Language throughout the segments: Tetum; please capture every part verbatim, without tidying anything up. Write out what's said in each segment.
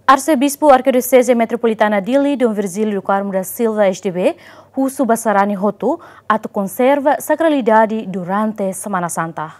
Arsebispu Arkidioseze Metropolitana Dili, Dom Virgílio do Carmo da Silva, S D B, husu ba sarani hotu atu konserva sakralidade durante Semana Santa.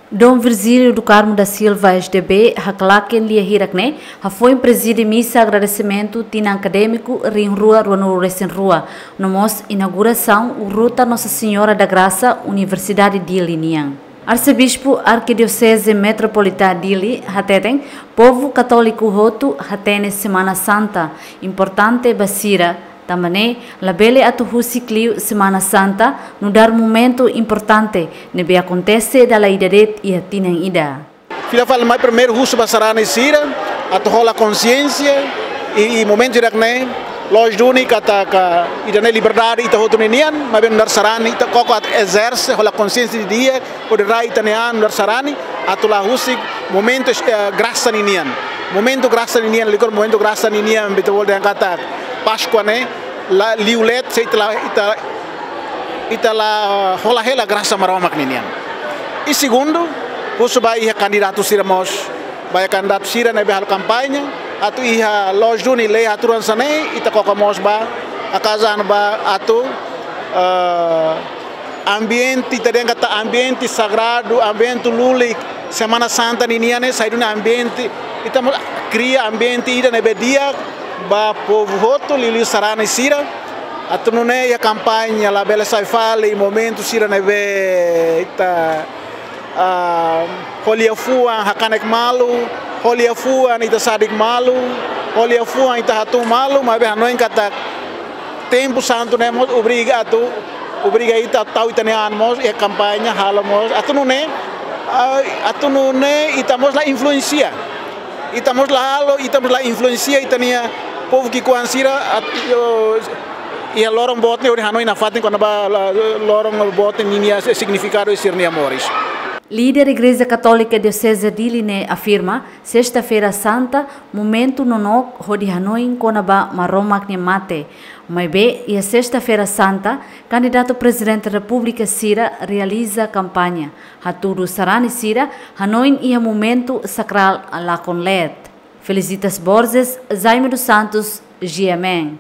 Dom Virgílio do Carmo da Silva, S D B, haklaken lia hirak-ne'e, hafoin prezide misa agradesimentu tinan akadémiku rihun rua ruanulu resin rua, no mós inaugurasaun Ruta Nossa Senhora da Graça, Universidade Dili nian. Arsebispu Arkidioseze Metropolitana Dili hateten, povu katóliku hotu hatene Semana Santa importante ba sira, tanba ne'e labele atu husik liu Semana Santa nu'udar momentu importante ne'ebé akontese dala ida de'it iha tinan ida. Fila fali mai primeiru husu ba sarani sira atu hola konsiénsia i, i momentu hirak-ne'e, loos duni katak ida-ne'e liberdade ita hotu ninian, maibé nu'udar sarani ita koko atu ezerse, hola konsiénsia didi'ak, hodi rai ita-nia an nu'udar sarani, atu la husik momentu, eh, grasa ninian. Momentu grasa ninian, liuliu momentu grasa ninian, ita bolu dehan katak Páskua ne'e, la liu leet, se ita la, ita, ita la hola hela grasa Maromak ninian. I segundu, husu ba iha kandidatu sira mós, ba iha kandidatu sira ne'ebé halo kampaña, atu iha loos duni lei haturan sira-ne'e, ita koko mós ba, akaza ba atu, eh, ambiente, ita dehan katak ambiente sagradu, ambiente lulik Semana Santa ninian ne'e, sai duni ambiente, ita mós kria ambiente ida ne'ebé di'ak ba povu hotu, liuliu sarani sira, atu nune'e iha kampaña labele sai fali momentu sira ne'ebé ita, ah, ho liafuan hakanek malu, ho liafuan ita sadik malu, ho liafuan ita hatún malu, maibé hanoin katak tempu santu ne'e mós obriga atu, obriga ita tau ita-nia an mós iha kampaña halo mós. Atu nune'e, ah, atu nune'e ita mós la influensia. Ita mós la halo, ita mós la influensia ita-nia povu ki'ikoan sira, at-, yo, iha loron boot ne'e hodi hanoin nafatin kona-ba la-, loron boot ninia signifikadu i sira-nia moris. Líder Igreja Katólika Dioseze Dili ne'e afirma, Sesta-feira Santa, momentu nonook hodi hanoin kona-ba Maromak nia mate. Maibé, iha Sesta-feira Santa, kandidatu Prezidente Repúblika sira realiza kampaña, hatudu sarani sira hanoin iha momentu sakrál lakon leet. Felicitas Borges, Jaime dos Santos, G M N.